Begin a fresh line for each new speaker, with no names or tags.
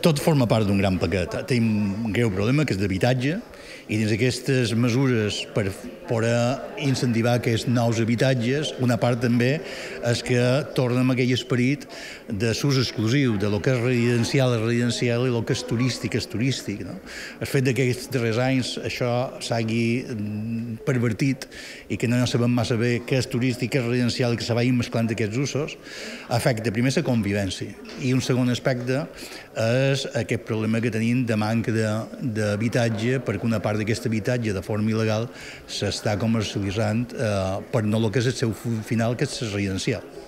Tot forma part d'un gran paquet. Tenim un greu problema, que és d'habitatge, i dins aquestes mesures per poder incentivar aquests nous habitatges, una part també és que tornem a aquell esperit de s'ús exclusiu, de lo que és residencial i lo que és turístic, no? El fet que aquests darrers anys això s'hagi pervertit i que no sabem massa bé què és turístic, què és residencial i que se vagin mesclant aquests usos, afecta primer la convivència. I un segon aspecte és aquest problema que tenim de manca d'habitatge, perquè una part d'aquest habitatge de forma il·legal s'està comercialitzant per no el que és el seu final, que és residencial.